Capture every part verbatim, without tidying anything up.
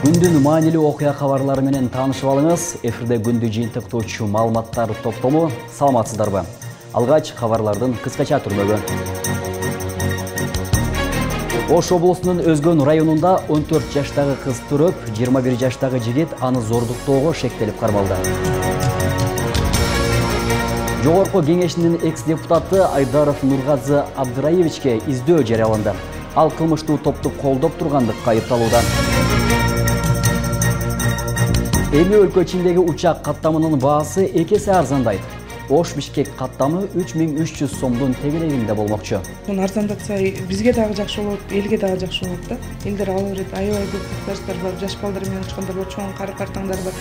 Күндүн маанилүү окуя кабарлары менен таанышып алыңыз. Эфирде күндү жыйынтыктоочу маалыматтар топтому. Саламатсыздарбы? Алгач кабарлардын кыскача түрмөгү. Ош облусунун Өзгөн районунда он төрт жаштагы кыз төрөп, жыйырма бир жаштагы жигит аны зордуктоого шектелип кармалды. Жогорку кеңешинин экс-депутаты Айдаров Нургазы Абдыраевичке издөө жарыяланды. Ал кылмыштуу топту колдоп тургандыкка айыпталууда. Эми өлкө ичиндеги учак каттамынын баасы эки эсе арзандайт. Ош Бишкек каттамы үч миң үч жүз сомдун тегерегинде болмокчу. Муну арзандатса бизге дагы жакшы болот, элге дагы жакшы болот да. Элдер ала берет, аябай көп жаштар бар, жаш балдар менен учкандар бар, чоң кары-картаңдар бар.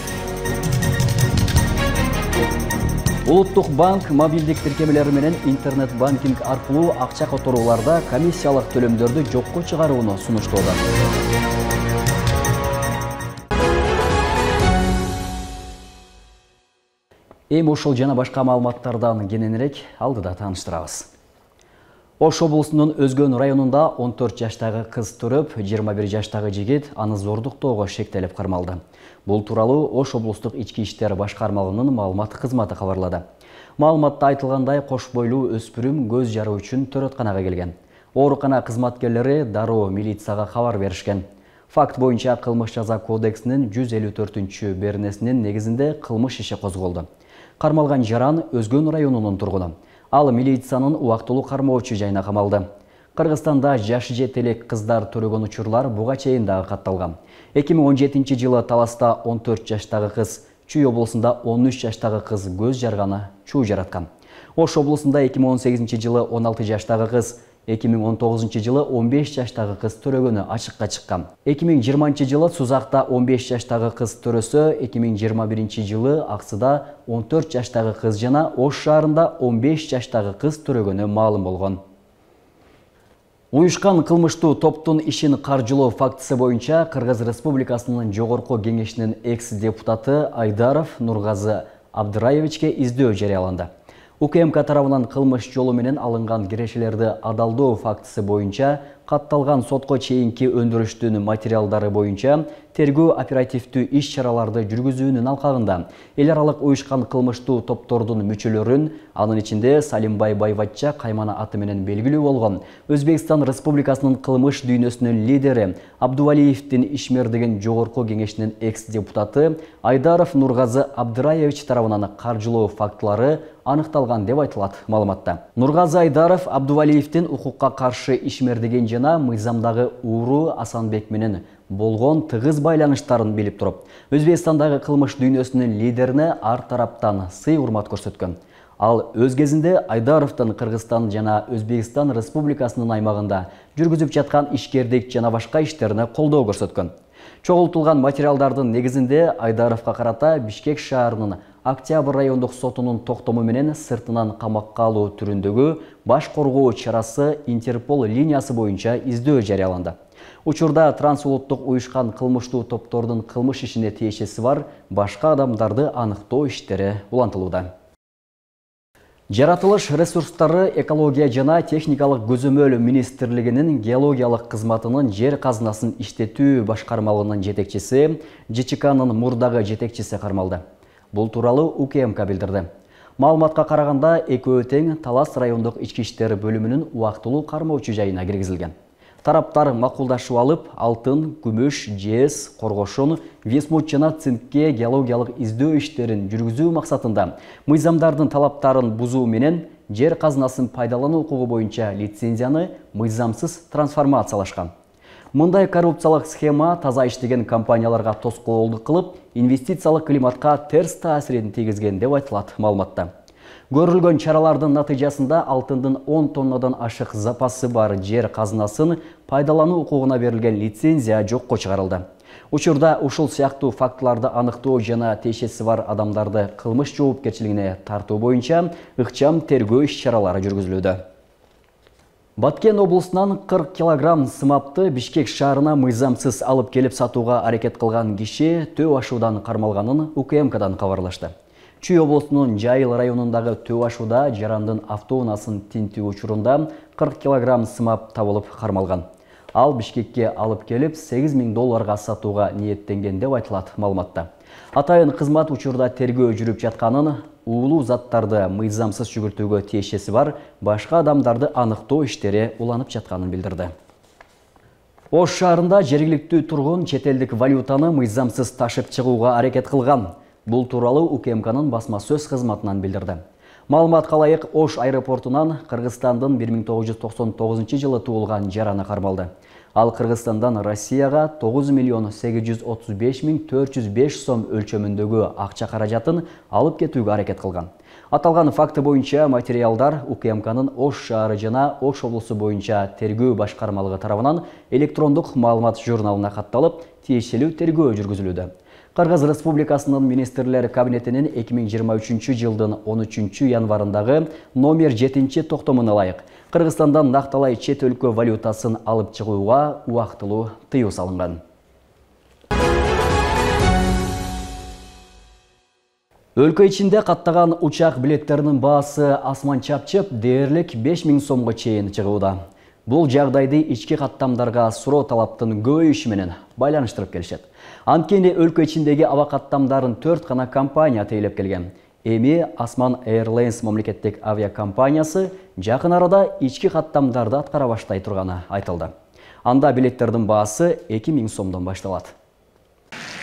Улуттук банк мобилдик тиркемелери менен интернет-банкинг аркылуу акча которууларда комиссиялык төлөмдөрдү жокко чыгарууну сунуштоодо. Эми ушул жана башка маалыматтардан кененирээк алдыда тааныштырабыз. Ош облусунун Өзгөн районунда он төрт жаштагы кыз төрөп, жыйырма бир жаштагы жигит аны зордуктоого шектелип кармалды. Бул тууралуу Ош облустук ички иштер башкармалыгынын маалымат кызматы кабарлады. Маалыматта айтылгандай, кош бойлуу өспүрүм көз жаруу үчүн төрөтканага келген. Оорукана кызматкерлери дароо милицияга кабар беришкен. Факт боюнча кылмыш жаза кодексинин жүз элүү төртүнчү беренесинин негизинде кылмыш иши козголду. Кармалган жаран Өзгөн районунун тургуну. Ал милициянын убактылуу кармоочу жайына камалды. Кыргызстанда жашы жете элек кыздар төрөгөн учурлар буга чейин дагы катталган. эки миң он жетинчи жылы Таласта он төрт жаштагы кыз, Чүй облусунда он үч жаштагы кыз көз жарганы чуу жараткан. Ош облусунда эки миң он сегизинчи жылы он алты жаштагы кыз, эки миң он тогузунчу жылы он беш жаштагы кыз төрөгөнү ачыкка чыккан. эки миң жыйырманчы жылы Сузакта он беш жаштагы кыз төрөсө, эки миң жыйырма биринчи жылы Аксыда он төрт жаштагы кыз жана Ош шаарында он беш жаштагы кыз төрөгөнү маалым болгон. Уюшкан кылмыштуу топтун ишин каржылоо фактысы боюнча Кыргыз Республикасынын Жогорку кеңешинин экс-депутаты Айдаров Нургазы Абдыраевичке издөө жарыяланды. УКМК тарабынан кылмыш жолу менен алынган кирешелерди адалдоо фактысы боюнча катталган сотко чейинки өндүрүштүн материалдары боюнча тергөө оперативдүү иш-чараларды жүргүзүүнүн алкагында эл аралык уюшкан кылмыштуу топтордун мүчөлөрүн, анын ичинде Салимбай Байватча каймана аты менен белгилүү болгон Өзбекстан Республикасынын кылмыш дүйнөсүнүн лидери Абдувалиевдин ишмердигин Жогорку кеңешинин экс-депутаты Айдаров Нургазы Абдыраевич тарабынан каржылоо фактылары аныкталган деп айтылат маалыматта. Нургазы Айдаров Абдувалиевдин укукка каршы ишмердигин жана мыйзамдагы ууру Асанбек менен болгон тыгыз байланыштарын билип туруп, Өзбекстандагы кылмыш дүйнөсүнүн лидерине ар тараптан сый урмат көрсөткөн. Ал өз кезинде Айдаровдун Кыргызстан жана Өзбекстан Республикасынын аймагында жүргүзүп жаткан ишкердик жана башка иштерине колдоо көрсөткөн. Чогултулган материалдардын негизинде Айдаровго карата Бишкек шаарынын Октябрь райондук сотунун токтому менен сыртынан камакка алуу түрүндөгү баш коргоо чарасы Интерпол линиясы боюнча издөө жарыяланды. Учурда трансулуттук уюшкан кылмыштуу топтордун кылмыш ишине тиешеси бар башка адамдарды аныктоо иштери улантылууда. Жаратылыш ресурстары экология жана техникалык көзөмөл министрлигинин геологиялык кызматынын жер казынасын иштетүү башкармалыгынын жетекчиси ЖЧКнын мурдагы жетекчиси кармалды. Бул тууралуу УКМК билдирди. Маалыматка караганда экөө тең Талас райондук ички иштер бөлүмүнүн убактылуу кармоочу жайына киргизилген. Тараптар макулдашып алып, алтын, күмүш, жез, коргошон, висмут жана цинкке геологиялык издөө иштерин жүргүзүү максатында мыйзамдардын талаптарын бузуу менен жер казынасын пайдалануу укугу боюнча лицензияны мыйзамсыз трансформациялашкан. Мындай коррупциялык схема таза иштеген компанияларга тоскоолдук кылып, инвестициялык климатка терс таасирин тийгизген деп айтылат маалыматта. Көрүлгөн чаралардын натыйжасында алтындын он тоннадан ашык запасы бар жер казынасын пайдалануу укугуна берилген лицензия жокко чыгарылды. Учурда ушул сыяктуу фактыларды аныктоо жана тиешеси бар адамдарды кылмыш жоопкерчилигине тартуу боюнча ыкчам тергөө иш-чаралары жүргүзүлүүдө. Баткен облусунан кырк килограмм сымапты Бишкек шаарына мыйзамсыз алып келип сатууга аракет кылган киши төө ашуудан кармалганын УКМКдан кабарлашты. Чүй облусунун Жайыл районундагы төө ашууда жарандын автоунаасын тинтүү учурунда кырк килограмм сымап табылып кармалган. Ал Бишкекке алып келип сегиз миң долларга сатууга ниеттенген деп айтылат маалыматта. Атайын кызмат учурда тергөө жүрүп жатканын, уулуу заттарды мыйзамсыз жүгүртүүгө тиешеси бар башка адамдарды аныктоо иштери уланып жатканын билдирди. Ош шаарында жергиликтүү тургун чет элдик валютаны мыйзамсыз ташып чыгууга аракет кылган. Бул тууралуу УКМКнын басма сөз кызматынан билдирди. Маалымат калайык, Ош аэропортунан Кыргызстандын бир миң тогуз жүз токсон тогузунчу жылы туулган жараны кармалды. Ал Кыргызстандан Россияга тогуз миллион сегиз жүз отуз беш миң төрт жүз беш сом өлчөмүндөгү акча каражатын алып кетүүгө аракет кылган. Аталган факты боюнча материалдар УКМКнын Ош шаары жана Ош облусу боюнча тергөө башкармалыгы тарабынан электрондук маалымат журналына катталып, тиешелүү тергөө жүргүзүлүүдө. Кыргыз Республикасынын министрлер кабинетинин эки миң жыйырма үчүнчү жылдын он үчүнчү январындагы номер жетинчи токтомуна ылайык Кыргызстандан накталай чет өлкө валютасын алып чыгууга убактылуу тыюу салынган. Өлкө ичинде каттаган учак билеттеринин баасы асман чапчып дээрлик беш миң сомго чейин чыгууда. Бул жагдайды ички каттамдарга суроо талаптын көбөйүшү менен байланыштырып келишет. Анткени өлкө ичиндеги аба каттамдарын төрт гана компания тейлеп келген. Эми Осман Airlines мамлекеттик авиакомпаниясы жакын арада ички каттамдарды аткара баштай турганы айтылды. Анда билеттердин баасы эки миң сомдон башталат.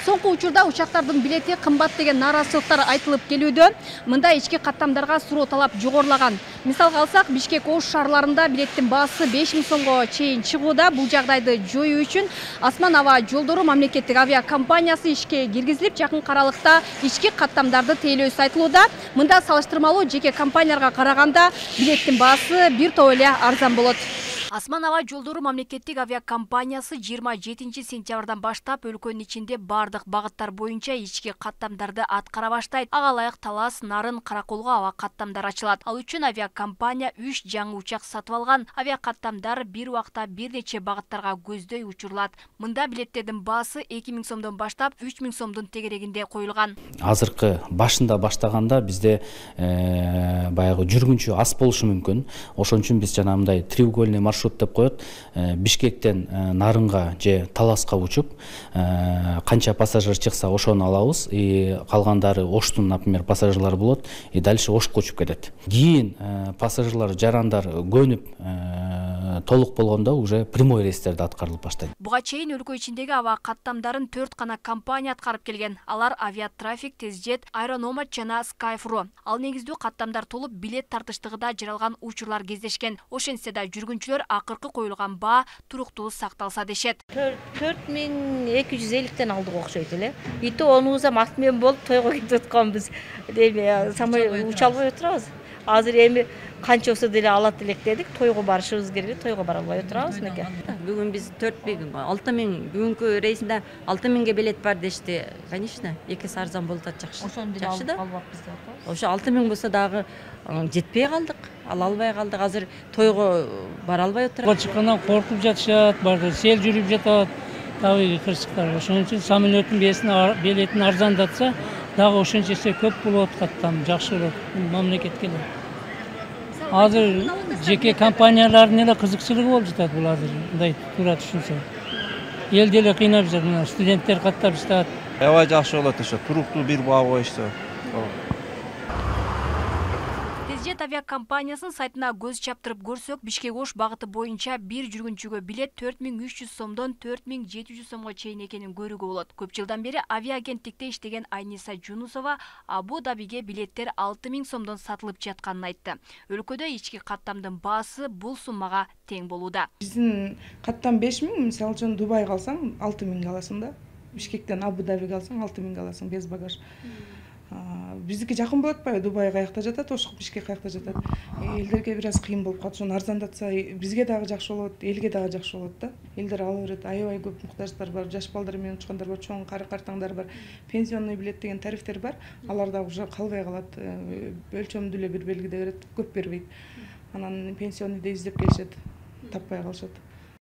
Соңку учурда учактардын билети кымбат деген нааразычылыктар айтылып келүүдө. Мында ички каттамдарга суроо талап жогорулаган. Мисалга алсак, Бишкек, Ош шаарларында билеттин баасы беш миң сомго чейин чыгууда. Бул жагдайды жоюу үчүн Осман аба жолдору мамлекеттик авиакомпаниясы ишке киргизилип, жакын аралыкта ички каттамдарды тейлөөсү айтылууда. Мында салыштырмалуу жеке компанияларга караганда билеттин баасы бир топ эле арзан болот. Осман аба жолдору мамлекеттик авиакомпаниясы жыйырма жетинчи сентябрдан баштап өлкөнүн ичинде бардык багыттар боюнча ички каттамдарды аткара баштайт. Ага ылайык Талас, Нарын, Караколго аба каттамдар ачылат. Ал үчүн авиакомпания үч жаңы учак сатып алган. Авиакаттамдар бир убакта бир нече багыттарга көздөй учурулат. Мында билеттердин баасы эки миң сомдон баштап үч миң сомдун тегерегинде коюлган. Азыркы башында баштаганда бизде э, баягы жүргүнчү аз болушу мүмкүн. Ошон үчүн биз жана мындай треугольный маршрут деп коет. Бишкектен Нарынга же Таласка учуп, канча пассажир чыкса ошону алабыз. И калгандары Оштун, например, пассажирлары болот. И дальше Ошко учуп кетет. Кийин пассажирлар, жарандар көнүп толук болгондо уже прямой рейстерди аткарылып баштайт. Буга чейин өлкө ичиндеги аба каттамдарын төрт гана компания аткарып келген. Алар Авиатрафик, Тезжет, Аэрономат жана Skyfro. Ал негиздүү каттамдар толуп билет тартыштыгында жаралган учурлар кездешкен. Ошентсе да жүргүнчүлөр акыркы коюлган баа туруктуу сакталса дешет. төрт миң эки жүз элүүтөн алдык окшойт эле. И то онубузам ат менен болуп тойго кетип атканбыз. Эми самолет уча албай отурабыз. Азыр эми канчасы деле алат элек дедик, тойго барышыбыз керек, тойго бара албай отурабыз мекен. Бүгүн биз төрт миң, алты миң, бүгүнкү рейсинде алты миңге билет бар дешти. Конечно, экиси арзан болуп атат, жакшы. Ошону деле алып албаппыз деп атабыз. Ошо алты миң болсо дагы жетпей калдык, ала албай калдык. Азыр тойго бара албай отурабыз. Чыккандан коркуп жатышат, барды сел жүрүп жатат. Табигый кырсыктар. Ошон үчүн самолеттин билетин арзандатса, дагы ошончо эсе көп болот, каттам жакшы болот мамлекетке. Азыр жеке компаниялардын эле кызыкчылыгы болуп жатат бул азыр мындай туура түшүнсө. Эл деле кыйнап жатат, мына студенттер каттап жатат. Аябай жакшы болот ошо, туруктуу бир баа коюшса. Тезжет авиакомпаниясынын сайтына көз чаптырып көрсөк, Бишкек Ош багыты боюнча бир жүргүнчүгө билет төрт миң үч жүз сомдон төрт миң жети жүз сомго чейин экенин көрүүгө болот. Көп жылдан бери авиагенттикте иштеген Айниса Жунусова Абу Дабиге билеттер алты миң сомдон сатылып жатканын айтты. Өлкөдө ички каттамдын баасы бул суммага тең болууда. Биздин каттам беш миң, мисалы үчүн Дубайга алсаң алты миңге аласың да. Бишкектен Абу Дабиге алсаң алты миңге аласың без багаж. Биздики жакын болуп атпайбы? Дубай каякта жатат, Ош, Бишкек каякта жатат. Элдерге бир аз кыйын болуп калат. Ошону арзандатса, бизге дагы жакшы болот, элге дагы жакшы болот да. Элдер ала берет, аябай көп муктаждар бар, жаш балдар менен учкандар бар, чоң кары картаңдар бар. Пенсионный билет деген тарифтер бар. Алар дагы уже калбай калат. Өлчөмдүү эле бир белгиде берет, көп бербейт. Анан пенсионныйды издеп келишет, таппай калышат.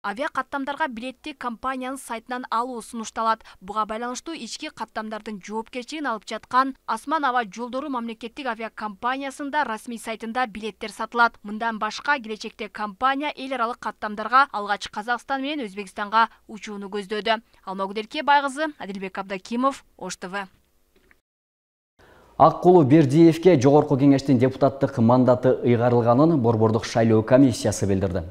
Авиа каттамдарга билетти компаниянын сайтынан алуу сунушталат. Буга байланыштуу ички каттамдардын жоопкерчилигин алып жаткан Асман аба жолдору мамлекеттик авиакомпаниясында расмий сайтында билеттер сатылат. Мындан башка келечекте компания эл аралык каттамдарга алгач Казакстан менен Өзбекстанга учууну көздөөдө. Алмагүл Байгызы, Адилбек Абдакимов, Ош ТВ. Аккулу Бердиевке жогорку кеңештин депутаттык мандаты ыйгарылганын Борбордук шайлоо комиссиясы билдирди.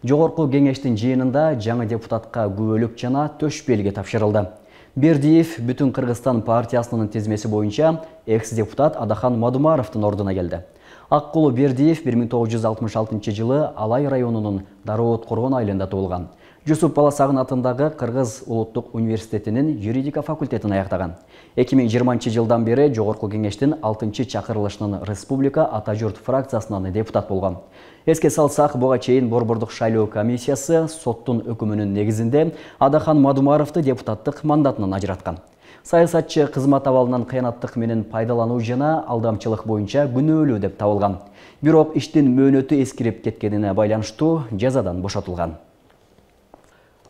Жогорку кеңештин жыйынында жаңы депутатка күбөлүк жана төш белги тапшырылды. Бердиев Бүтүн Кыргызстан партиясынын тизмеси боюнча экс-депутат Адахан Мадумаровдун ордуна келди. Аккулу Бердиев бир миң тогуз жүз алтымыш алтынчы жылы Алай районунун Дароот Коргон айылында туулган. Жусуп Баласагын атындагы Кыргыз Улуттук университетинин юридика факультетин аяктаган. эки миң жыйырманчы жылдан бери Жогорку кеңештин алтынчы чакырылышынын Республика Ата журт фракциясынан депутат болгон. Эске салсак, буга чейин Борбордук шайлоо комиссиясы соттун өкүмүнүн негизинде Адахан Мадумаровду депутаттык мандатынан ажыраткан. Саясатчы кызмат абалынан кыянаттык менен пайдалануу жана алдамчылык боюнча күнөөлүү деп табылган. Бирок иштин мөөнөтү эскирип кеткенине байланыштуу жазадан бошотулган.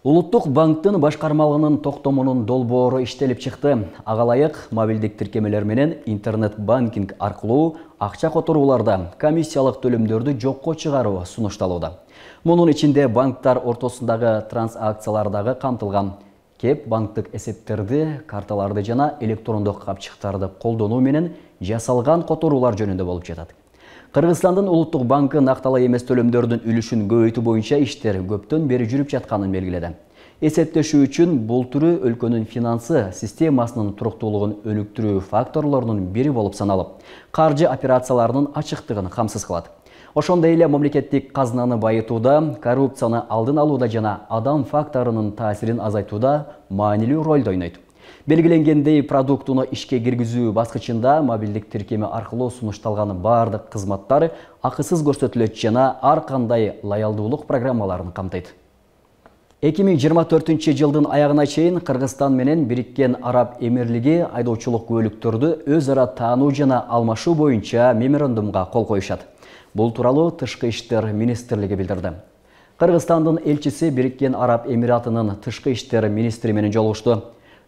Улуттук банктын башкармалыгынын токтомунун долбоору иштелип чыкты. Ага ылайык мобилдик тиркемелер менен интернет банкинг аркылуу акча которууларда комиссиялык төлөмдөрдү жокко чыгаруу сунушталууда. Мунун ичинде банктар ортосундагы трансакциялар дагы камтылган. Кеп банктык эсептерди, карталарды жана электрондук капчыктарды колдонуу менен жасалган которуулар жөнүндө болуп жатат. Кыргызстандын Улуттук банкы накталай эмес төлөмдөрдүн үлүшүн көбөйтүү боюнча иштер көптөн бери жүрүп жатканын белгиледи. Эсептешүү үчүн бул түрү өлкөнүн финансы системасынын туруктуулугун өнүктүрүү факторлорунун бири болуп саналып, каржы операцияларынын ачыктыгын камсыз кылат. Ошондой эле мамлекеттик казынаны байытууда, коррупцияны алдын алууда жана адам факторунун таасирин азайтууда маанилүү ролду ойнойт. Белгиленгендей, продуктуну ишке киргизүү баскычында мобилдик тиркеме аркылуу сунушталган бардык кызматтар акысыз көрсөтүлөт жана ар кандай лоялдуулук программаларын камтыйт. эки миң жыйырма төртүнчү жылдын аягына чейин Кыргызстан менен Бириккен Араб Эмирлиги айдоочулук көлүктөрдү өз ара таануу жана алмашуу боюнча меморандумга кол коюшат. Бул тууралуу Тышкы иштер министрлиги билдирди. Кыргызстандын элчиси Бириккен Араб Эмиратынын тышкы иштер министри менен жолугушту.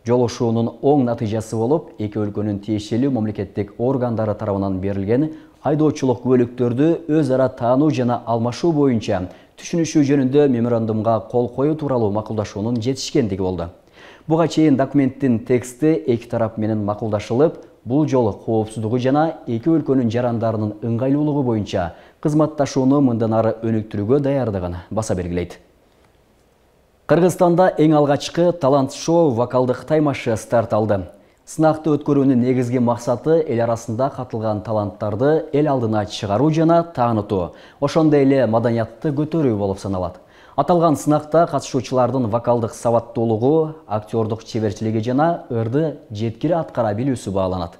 Жолушуунун оң натыйжасы болуп, эки өлкөнүн тиешелүү мамлекеттик органдары тарабынан берилген айдоочулук күбөлүктөрдү өз ара таануу жана алмашуу боюнча түшүнүшүү жөнүндө меморандумга кол коюу тууралуу макулдашуунун жетишкендиги болду. Буга чейин документтин тексти эки тарап менен макулдашылып, бул жолу коопсуздугу жана эки өлкөнүн жарандарынын ыңгайлуулугу боюнча кызматташууну мындан ары өнүктүрүүгө даярдыгын баса белгилейт. Кыргызстанда эң алгачкы талант-шоу вокалдык таймашы старт алды. Сынакты өткөрүүнүн негизги максаты эл арасында катылган таланттарды эл алдына чыгаруу жана таанытуу, ошондой эле маданиятты көтөрүү болуп саналат. Аталган сынакта катышуучулардын вокалдык сабаттуулугу, актёрдук чеберчилиги жана ырды жеткири аткара билүүсү бааланат.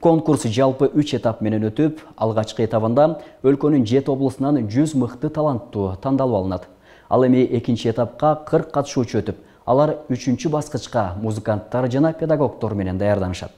Конкурс жалпы үч этап менен өтүп, алгачкы этабында өлкөнүн жети облусунан жүз мыкты таланттуу тандалып алынат. Ал эми экинчи этапка кырк катышуучу өтүп, алар үчүнчү баскычка музыканттар жана педагогдор менен даярданышат.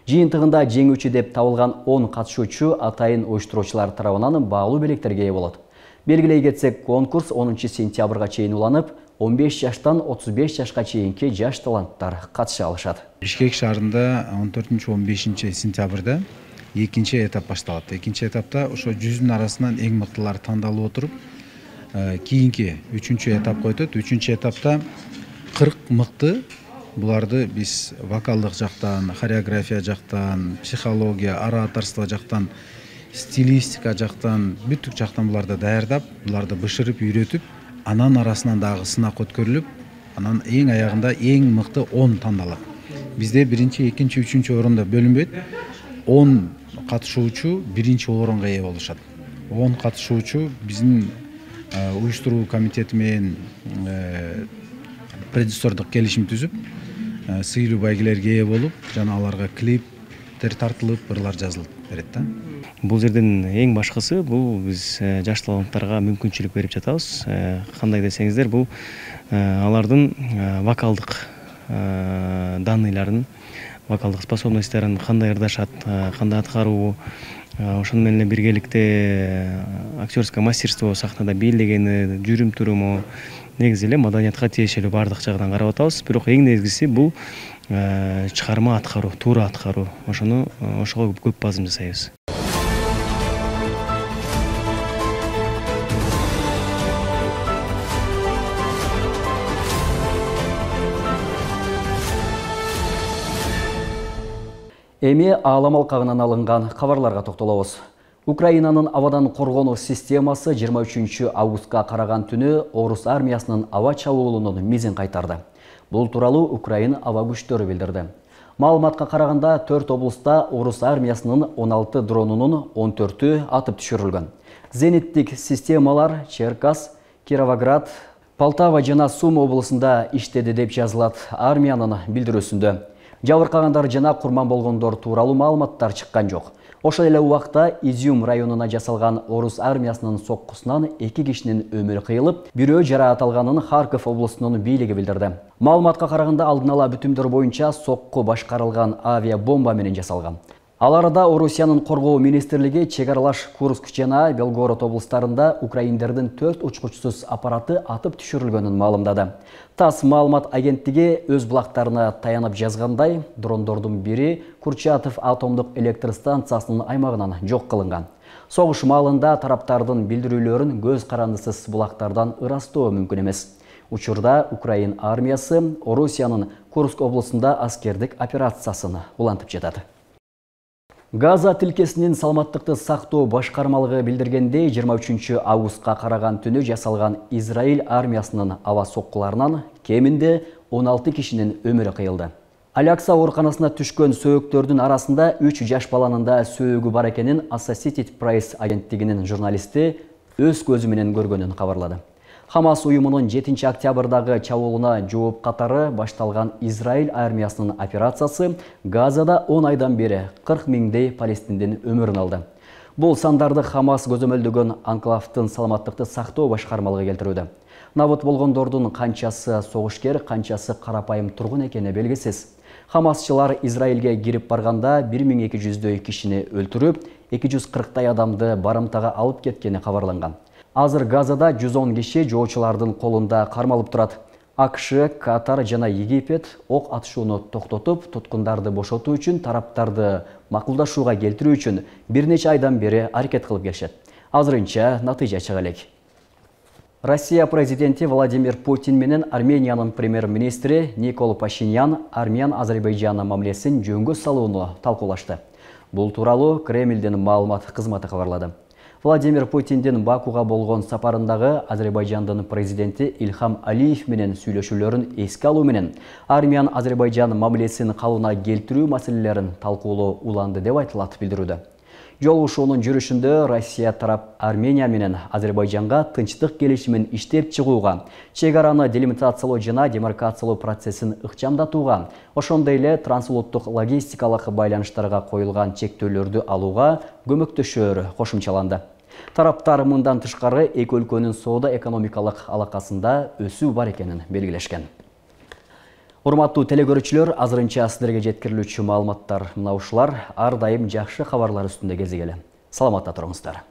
Жыйынтыгында жеңүүчү деп табылган он катышуучу атайын уюштуруучулар тарабынан баалуу белектерге ээ болот. Белгилей кетсек, конкурс онунчу сентябрга чейин уланып, он беш жаштан отуз беш жашка чейинки жаш таланттар катыша алышат. Бишкек шаарында он төртүнчү он бешинчи сентябрда экинчи этап башталат. Экинчи этапта ошо жүздүн арасынан эң мыктылар тандалып отуруп, кийинки үчүнчү этапка өтөт. Үчүнчү этапта кырк мыкты, буларды биз вокалдык жактан, хореография жактан, психология, ораторство жактан, стилистика жактан, бүттүк жактан буларды даярдап, буларды бышырып, үйрөтүп, анан арасынан дагы сынак өткөрүлүп, анан эң аягында эң мыкты он тандалат. Бизде биринчи, экинчи, үчүнчү орунда бөлүнбөйт. он катышуучу биринчи орунга ээ болушат. он катышуучу биздин уюштуруу комитети менен продюсердук келишим түзүп, сыйлуу байгелерге ээ болуп, жана аларга клиптер тартылып, ырлар жазылып берет да. Бул жерден эң башкысы бул биз жаш таланттарга мүмкүнчүлүк берип жатабыз. Кандай десеңиздер, бул алардын вокалдык данныйларын, вокалдык способностьтарын кандай ырдашат, кандай аткаруу, ошону менен биргеликте актерское мастерство, сахнада бийлегени, жүрүм туруму, негизи эле маданиятка тиешелүү баардык жагынан карап атабыз. Бирок эң негизгиси бул чыгарма аткаруу, туура аткаруу. Ошону ошого көп базым жасайбыз. Эми аалам алкагынан алынган кабарларга токтолобуз. Украинанын абадан коргонуу системасы жыйырма үчүнчү августка караган түнү орус армиясынын аба чабуулунун мизин кайтарды. Бул тууралуу Украина аба күчтөрү билдирди. Маалыматка караганда төрт облуста орус армиясынын он алты дронунун он төртү атып түшүрүлгөн. Зениттик системалар Черкас, Кировоград, Полтава жана Сум облусунда иштеди деп жазылат армиянын билдирүүсүндө. Жабыркагандар жана курман болгондор тууралуу маалыматтар чыккан жок. Ошол эле убакта Изюм районуна жасалган орус армиясынын соккусунан эки кишинин өмүрү кыйылып, бирөө жараат алганын Харков облусунун бийлиги билдирди. Маалыматка караганда алдын ала бүтүмдөр боюнча сокку башкарылган авиабомба менен жасалган. Ал арада Орусиянын коргоо министрлиги чек аралаш Курск жана Белгород облустарында украиндердин төрт учкучсуз аппараты атып түшүрүлгөнүн маалымдады. ТАСС маалымат агенттиги өз булактарына таянып жазгандай, дрондордун бири Курчатов атомдук электр станциясынын аймагынан жок кылынган. Согуш маалында тараптардын билдирүүлөрүн көз карандысыз булактардан ырастоо мүмкүн эмес. Учурда Украин армиясы Орусиянын Курск облусунда аскердик операциясын улантып жатат. Газа тилкесинин саламаттыкты сактоо башкармалыгы билдиргендей, жыйырма үчүнчү августка караган түнү жасалган Израиль армиясынын аба соккуларынан кеминде он алты кишинин өмүрү кыйылды. Алякса ооруканасына түшкөн сөөктөрдүн арасында үч жаш баланын да сөөгү бар экенин Associated Press агенттигинин журналисти өз көзү менен көргөнүн кабарлады. Хамас уюмунун жетинчи октябрдагы чабуулуна жооп катары башталган Израиль армиясынын операциясы Газада он айдан бери кырк миңдей палестиндин өмүрүн алды. Бул сандарды Хамас көзөмөлдөгөн анклавдын саламаттыкты сактоо башкармалыгы келтирүүдө. Набыт болгондордун канчасы согушкер, канчасы карапайым тургун экени белгисиз. Хамасчылар Израилге кирип барганда бир миң эки жүздөй кишини өлтүрүп, эки жүз кырктай адамды барымтага алып кеткени кабарланган. Азыр Газада жүз он киши жоочулардын колунда кармалып турат. АКШ, Катар жана Египет ок атышууну токтотуп, туткундарды бошотуу үчүн тараптарды макулдашууга келтирүү үчүн бир нече айдан бери аракет кылып келишет. Азырынча натыйжа чыга элек. Россия президенти Владимир Путин менен Армениянын премьер-министри Никол Пашинян Армян-Азербайжан мамилесин жөнгө салууну талкуулашты. Бул тууралуу Кремлдин маалымат кызматы кабарлады. Владимир Путиндин Бакуга болгон сапарындагы Азербайжандын президенти Илхам Алиев менен сүйлөшүүлөрүн эске алуу менен Армян-Азербайжан мамилесин калыбына келтирүү маселелерин талкуулоо уланды деп айтылат билдирүүдө. Жолугушуунун жүрүшүндө Россия тарап Армения менен Азербайжанга тынчтык келишимин иштеп чыгууга, чек араны делимитациялоо жана демаркациялоо процессин ыкчамдатууга, ошондой эле трансулуттук логистикалык байланыштарга коюлган чектөөлөрдү алууга көмөктөшөөрү кошумчаланды. Тараптар мындан тышкары эки өлкөнүн соода-экономикалык алакасында өсүү бар экенин белгилешкен. Урматтуу телекөрүүчүлөр, азырынча сиздерге жеткирилүүчү маалыматтар мына ушулар. Ар дайым жакшы кабарлар үстүндө кезигели. Саламатта туруңуздар.